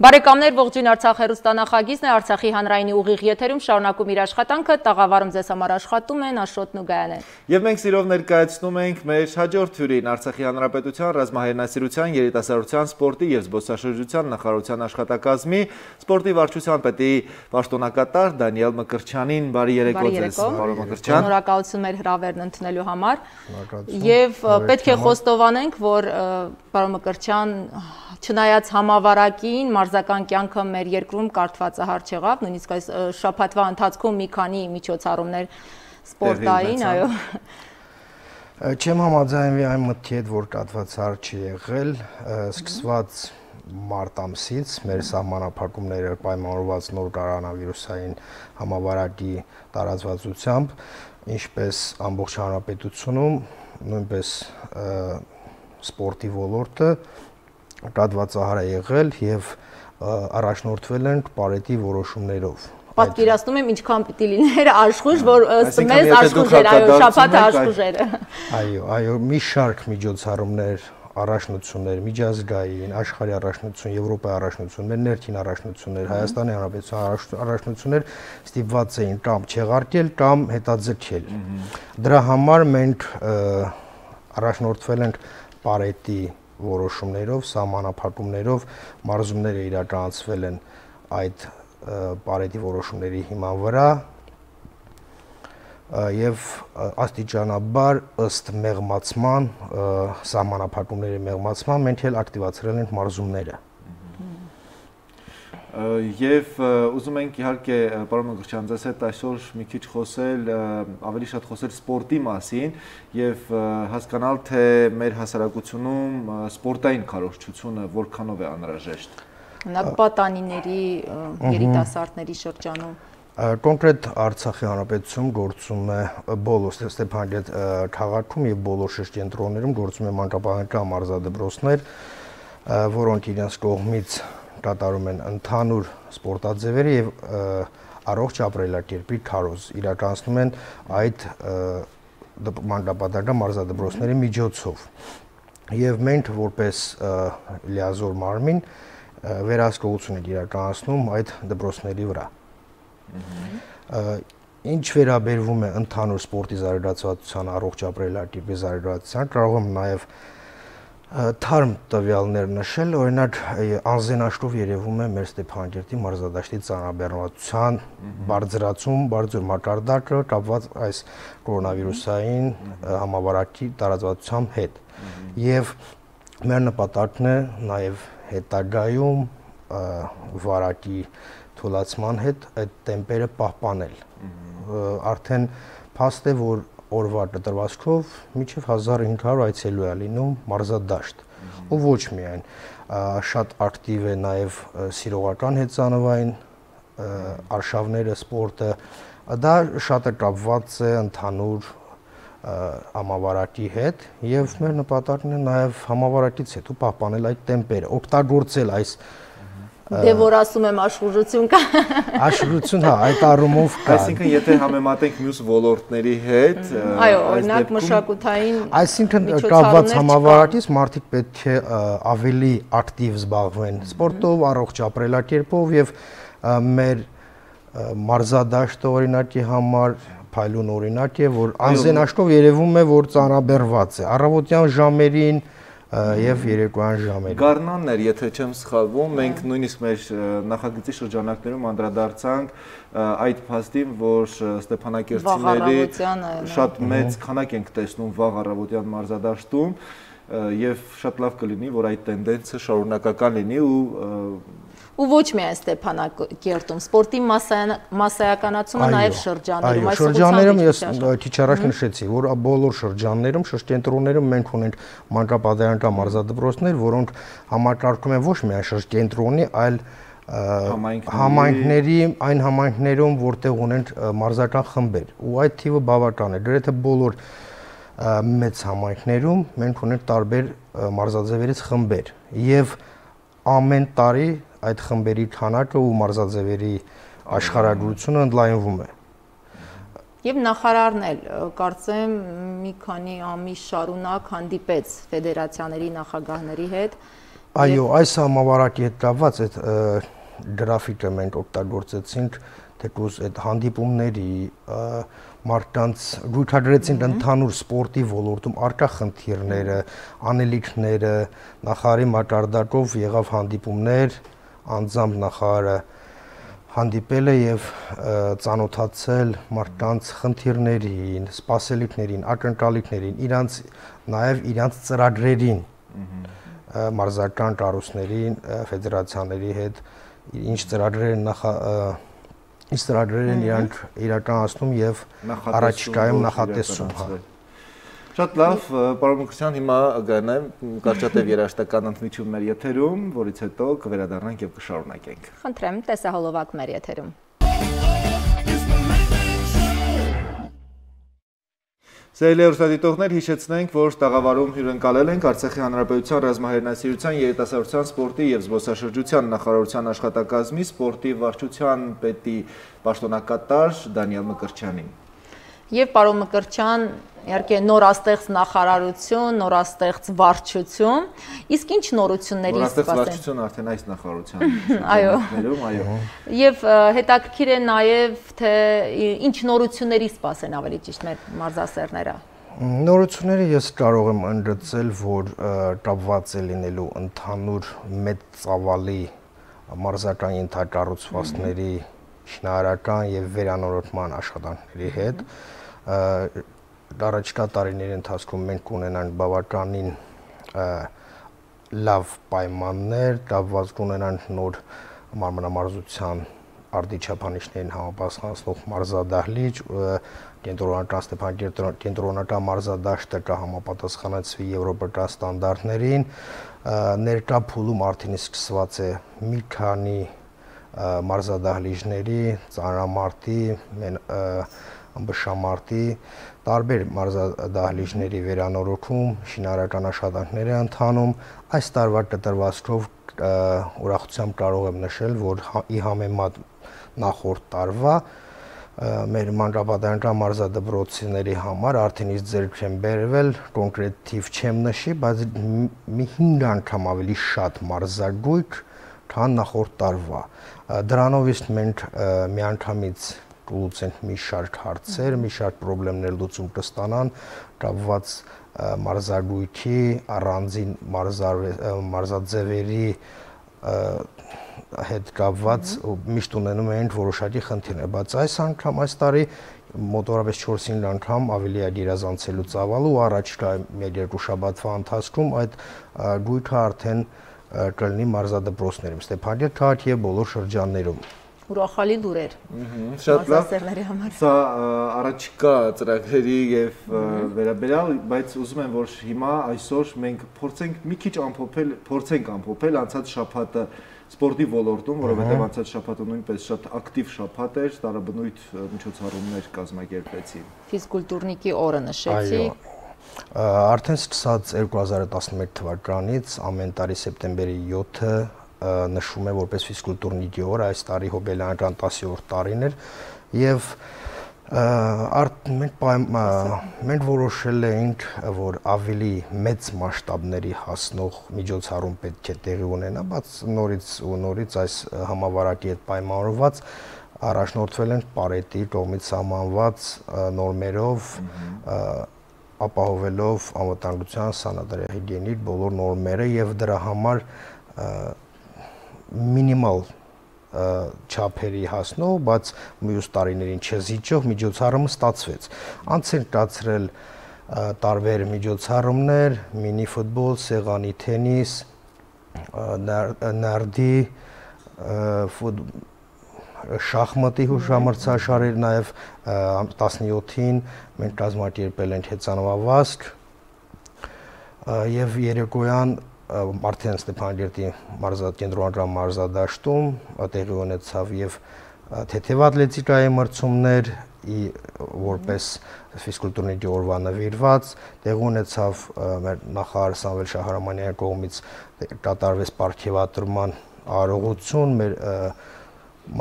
Բարեկամներ, ողջույն Արցախ հեռուստանախագիծն է, Արցախի հանրայինի ուղիղ եթերում շարունակում իր աշխատանքը, տաղավարում ձեզ համար աշխատում են Աշոտն ու Գայանեն։ Եվ մենք սիրով ներկայացնում ենք մեր հաջորդ հյուրին Արցախի հանրապետության ռազմահայրենասիրության, երիտասարդության, սպորտի եւ զբոսաշրջության նախարարության աշխատակազմի սպորտի վարչության պետի պաշտոնակատար Դանիել Մկրտչյանին։ Բարի երեկո ձեզ, պարոն Մկրտչյան։ Շնորհակալություն մեր հրավերն ընդունելու համար։ Եվ պետք է խոստովանենք, որ պարոն Մկրտչյան, չնայած համավարակին, մարզական կյանքը մեր երկրում կարդվածահար չեղավ, նույնիսկ այս շաբաթվա ընթացքում մի քանի միջոցառումներ սպորտային, այո։ Չեմ համաձայնվի այն մտքի հետ, որ կարդվածահար չի եղել, սկսված մարտ ամսից մեր սահմանափակումները պայմանավորված նոր կորոնավիրուսային համավարակի տարածվածությամբ, ինչպես ամբողջ հանրապետությունում, նույնպես սպորտի ոլորտը կարդվածահար է եղել եւ առաջնորդվել են պարետի որոշումներով։ Պատկերացնում եմ ինչքան պիտի լիներ աշխույժ, որ ըստ մեզ աշխույժ էր, այո, շաբաթը աշխույժ էր։ Այո, մի շարք միջոցառումներ, առաջնություններ, միջազգային, աշխարհի առաջնություն, Եվրոպայի առաջնություն, մեր ներքին առաջնություններ, Հայաստանի Հանրապետության առաջնություններ ստիպված էին կամ չեղարկել կամ հետաձգել։ Դրա համար մենք առաջնորդվել ենք պարետի որոշումներով, սահմանափակումներով, մարզումները իրականացվել են այդ պարետի որոշումների հիման վրա եւ աստիճանաբար ըստ մեղմացման, սահմանափակումների մեղմացման մենք էլ ակտիվացրել ենք մարզումները։ Եվ ուզում ենք իհարկե պարոն Մկրտչյան, ձեզ հետ այսօր մի քիչ խոսել, ավելի շատ խոսել սպորտի մասին եւ հասկանալ, թե մեր հասարակությունում սպորտային քարոզչությունը որքանով է անհրաժեշտ։ Պատանիների, երիտասարդների շրջանում։ Կոնկրետ Արցախի հանրապետությունում գործում է բոլոր Ստեփանագերտ քաղաքում եւ բոլոր շրջենտրոններում գործում է մանկապարտեզական մարզադպրոցներ, որոնք իրենց կողմից կատարում են ընդհանուր սպորտաձևերը եւ առողջ ապրելակերպի քարոզ իրականացնում են այդ մանկապարտեզական մարզադպրոցների միջոցով։ Եվ մենք որպես լիազոր մարմին վերահսկողություն ենք իրականացնում այդ դպրոցների վրա։ Ինչ վերաբերվում է ընդհանուր սպորտի զարգացվածության, առողջ ապրելակերպի զարգացության, կարող եմ նաեւ թարմ տվյալներ նշել, օրինակ անզենաշտով երևում է մեր Ստեփանագերտի մարզադաշտի ծանրաբեռնվածության բարձրացում, բարձր մակարդակը կապված այս կորոնավիրուսային համավարակի տարածվածությամբ հետ։ Եվ մեր նպատակն է նաև հետագայում վարակի թուլացման հետ այդ տեմպերը պահպանել։ Արդեն փաստ է, որ օրվա դրվածքով մինչև 1500 այցելու է լինում մարզադաշտ։ Ու ոչ միայն, շատ ակտիվ է նաև սիրողական հեծանվային արշավները, սպորտը, դա շատ է կապված է ընդհանուր համավարակի հետ եւ մեր նպատակն է նաև համավարակից հետո պահպանել այդ տեմպերը, օգտագործել այս Դե որ ասում եմ աշխուժություն կա։ Աշխուժություն, հա, այդ առումով կա։ Այսինքն եթե համեմատենք մյուս ոլորտների հետ, այո, օրինակ մշակութային, այսինքն կապված համավարակից մարդիկ պետք է ավելի ակտիվ զբաղվեն սպորտով, առողջ ապրելակերպով եւ մեր մարզադաշտը օրինակի համար փայլուն օրինակ է, որ անզենաշտով երևում է, որ ծանրաբեռված է առավոտյան ժամերին եւ երեկոյան ժամերին։ Գարնաններ, եթե չեմ սխալվում, մենք նույնիսկ մեր նախագծի շրջանակներում անդրադարձանք այդ փաստին, որ Ստեփանակերտցիների շատ մեծ քանակ ենք տեսնում վաղ առավոտյան մարզադաշտում եւ շատ լավ կլինի, որ այդ տենդենսը շարունակական լինի ու ոչ միայն Ստեփանակերտում, սպորտի մասսայականացումը նաև շրջաններում, այս շրջաններում ես քիչ առաջ նշեցի, որ բոլոր շրջաններում, շրջենտրոններում մենք ունենք մանկապարտեզական մարզադպրոցներ, որոնք համակարգում են ոչ միայն շրջենտրոնի, այլ համայնքների, այն համայնքներում, որտեղ ունենք մարզական խմբեր, ու այդ թիվը բավական է, գրեթե բոլոր մեծ համայնքներում մենք ունենք տարբեր մարզաձևերից խմբեր եւ ամեն տարի այդ խմբերի քանակը ու մարզաձևերի աշխարհագրությունը ընդլայնվում է։ Եվ նախարարն էլ կարծեմ մի քանի ամիս շարունակ հանդիպեց ֆեդերացիաների նախագահների հետ Այո, այս համավարակի հետ կապված այդ գրաֆիկը մենք օգտագործեցինք թեկուզ այդ հանդիպումների մարդկանց գույքադրեցինք ընդհանուր սպորտի ոլորտում առկա խնդիրները, անելիքները, նախարարի մակարդակով եղավ հանդիպումներ, անձամբ նախարարը հանդիպել է եւ ծանոթացել մարդկանց խնդիրներին, սպասելիքներին, ակնկալիքներին, իրանց ծրագրերին, մարզական կառույցներին, ֆեդերացիաների հետ, ինչ ծրագրեր են իրանք իրականացնում եւ առաջիկայում նախատեսում։ Շատ լավ, պարոն Մկրտչյան, հիմա գնանք կարճատև երաժշտական ընդմիջում մեր եթերում, որից հետո կվերադառնանք եւ կշարունակենք։ Խնդրեմ, տեսահոլովակ մեր եթերում։ Սիրելի հեռուստադիտողներ, հիշեցնենք, որ տաղավարում հյուրընկալել ենք Արցախի Հանրապետության ռազմահերնասիրության, երիտասարդության, սպորտի եւ զբոսաշրջության նախարարության աշխատակազմի սպորտի վարչության պետի պաշտոնակատար Դանիել Մկրտչյանին։ Եվ պարոն Մկրտչյան, իհարկե նորաստեղծ նախարարություն, նորաստեղծ վարչություն, իսկ ինչ նորությունների սպասեն։ Նորաստեղծ վարչություն արդեն այս նախարարության այո։ Այո։ Եվ հետաքրքիր է նաև թե ինչ նորությունների սպասեն ավելի ճիշտ մեր մարզասերները։ Նորությունները ես կարող եմ ընդգծել, որ կապված է լինելու ընդհանուր մեծ ծավալի մարզական ենթակառուցվածքների շինարարական եւ վերանորոգման աշխատանքների հետ։ Առաջիկա տարիների ընթացքում մենք կունենանք բավականին լավ պայմաններ, կապված կունենանք նոր մարմնամարզության արդիչափանիշներին համապատասխանող մարզադահլիճ, կենտրոնական Ստեփանակերտ կենտրոնական մարզադաշտը կհամապատասխանեցվի եվրոպական ստանդարտներին, ներկա փուլում արդեն սկսված է մի քանի մարզադահլիճների, ծանրամարտի, ըմբշամարտի, տարբեր մարզադահլիճների վերանորոգում, շինարարական աշխատանքներ են ընթանում։ Այս տարվա կտրվածքով ուրախությամբ կարող եմ նշել, որ ի համեմատ նախորդ տարվա մեր մանկապատանեկան մարզադպրոցների համար արդեն իսկ ձեռք են բերվել, կոնկրետ թիվ չեմ նշի, բայց մի 5 անգամ ավելի շատ մարզագույք, քան նախորդ տարվա։ Դրանով իսկ մենք միանգամից կլուծենք մի շարք հարցեր, մի շարք խնդիրներ լուծում կստանան, կապված մարզագույքի, առանձին մարզաձևերի հետ կապված միշտ ունենում ենք որոշակի խնդիրներ, բայց այս անգամ այս տարի մոտավորապես 4-5 անգամ ավելի է գերազանցելու ծավալը ու առաջիկա մեր երկու շաբաթվա ընթացքում այդ գույքը արդեն կլինի մարզադպրոցներում, Ստեփանակերտ քաղաքի եւ բոլոր շրջաններում։ Ուրախալի լուրեր։ Շատ լավ։ Սա առաջիկա ծրագրերի եւ վերաբերյալ, բայց ուզում եմ որ հիմա այսօր մենք փորձենք մի քիչ ամփոփել անցած շաբաթը սպորտի ոլորտում, որովհետեւ անցած շաբաթը նույնպես շատ ակտիվ շաբաթ էր, տարաբնույթ միջոցառումներ կազմակերպեցին։ Ֆիզկուլտուրնիկի օրը նշեցիք։ Արդեն սկսած 2011 թվականից ամեն տարի սեպտեմբերի 7-ը նշվում է որպես ֆիզկուլտուրնիկի օր, այս տարի հոբելյանական 10-րդ տարին էր եւ մենք որոշել էինք, որ ավելի մեծ մասշտաբների հասնող միջոցառում պետք է տեղի ունենա, բայց նորից այս համավարակի հետ պայմանավորված առաջնորդվել ենք Պարետի կողմից սահմանված նորմերով, ապահովելով անվտանգության, սանիտարիա-հիգիենիկ բոլոր նորմերը եւ դրա համար մինիմալ չափերի հասնող, բայց մյուս տարիներին չզիջող միջոցառումը ստացվեց։ Անց են կացրել տարբեր միջոցառումներ, մինի ֆուտբոլ, սեղանի թենիս, նարդի, շախմատի հուշամրցաշարեր, նաև 17-ին մենք կազմակերպել ենք հեծանվավազք եւ երեկոյան արդեն Ստեփանակերտի կենտրոնական մարզադաշտում տեղի ունեցավ եւ թեթևատլետիկայի մրցումներ, որպես ֆիզկուլտուրնիկի օրվա նվիրված, տեղի ունեցավ մեր նախարար Սամվել Շահրամանյանի կողմից կատարվեց պարգևատրման արարողություն մեր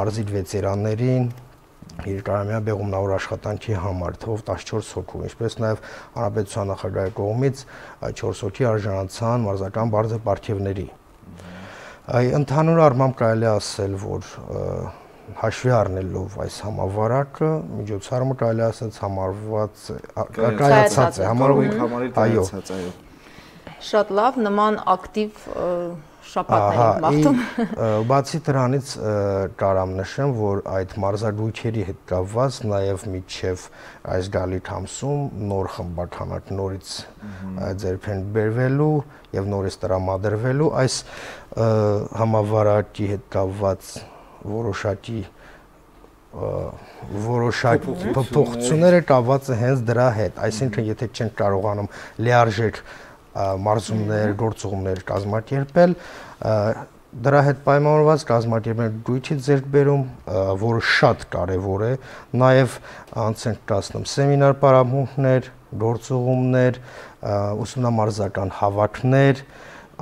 մարզի վետերաններին երկարամյա բեղումնավոր աշխատանքի համար թվով 14 հոգու, ինչպես նաև հանրապետության նախագահի կողմից 4 հոգի արժանացան մարզական բարձր պարգևների։ Ընդհանուր առմամբ կարելի է ասել, որ հաշվի առնելով այս համավարակը, միջոցառումը կարելի է ասել համարված կայացած է, այո։ Շատ լավ, նման ակտիվ շաբաթներ ենք մաղթում։ Բացի դրանից կարամ նշեմ, որ այդ մարզադույթերի հետ կապված նաև միջև այս գալիք ամսում նոր խմբականակ նորից ձեռք են բերվելու եւ նորից տրամադրվելու այս համավարակի հետ կապված որոշակի փոփոխությունները կապված են հենց դրա հետ, այսինքն եթե չեն կարողանում լիարժեք մարզումներ, գործողումներ կազմակերպել, դրա հետ պայմանավորված կազմակերպել դույթի ձեռքբերում, որը շատ կարևոր է, նաև անց են կացնում սեմինար պարապմունքներ, գործողումներ, ուսումնամարզական հավաքներ,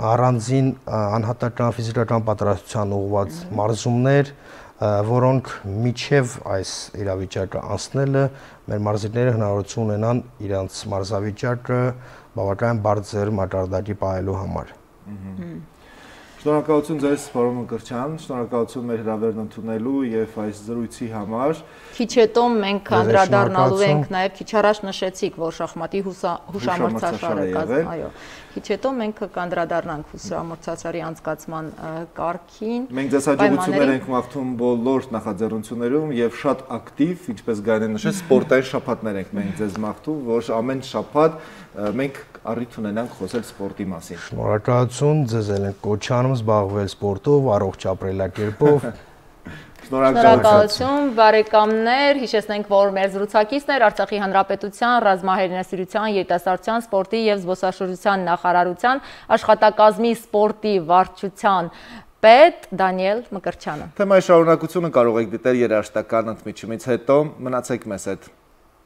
առանձին անհատական ֆիզիկական պատրաստության ուղղված մարզումներ, որոնք միջև այս իրավիճակը անցնելը մեր մարզիկները հնարավորություն ունենան իրենց մարզավիճակը բավական բարձր մակարդակի պահելու համար։ Շնորհակալություն ձեզ, պարոն Մկրտչյան, շնորհակալություն մեր հրավերն ընդունելու եւ այս զրույցի համար։ Քիչ հետո մենք անդրադառնալու ենք նաեւ քիչ առաջ նշեցիք, որ շախմատի հուշամրցաշար է կազմում, այո։ Քիչ հետո մենք կանդրադառնանք հուշամրցաշարի անցկացման կարգին։ Մենք ձեզ հաջողություններ ենք մաղթում բոլոր նախաձեռնություններում եւ շատ ակտիվ, ինչպես Գայանեն նշեց, սպորտային շաբաթներ ենք մենք ձեզ մաղթում, որ ամեն շաբաթ մենք առիթ ունենանք խոսել սպորտի մասին։ Շնորհակալություն, ձեզ էլ ենք կոչ անում զբաղվել սպորտով, առողջ ապրելակերպով։ Շնորհակալություն, բարեկամներ, հիշեցնենք, որ մեր զրուցակիցն էր Արցախի Հանրապետության ռազմահերինասիրության, երիտասարդության, սպորտի եւ զբոսաշրջության նախարարության աշխատակազմի սպորտի վարչության պետ Դանիել Մկրտչյանը։ Թեմայի շարունակությունը կարող եք դիտել երաժշտական ընդմիջումից հետո, մնացեք մեզ հետ։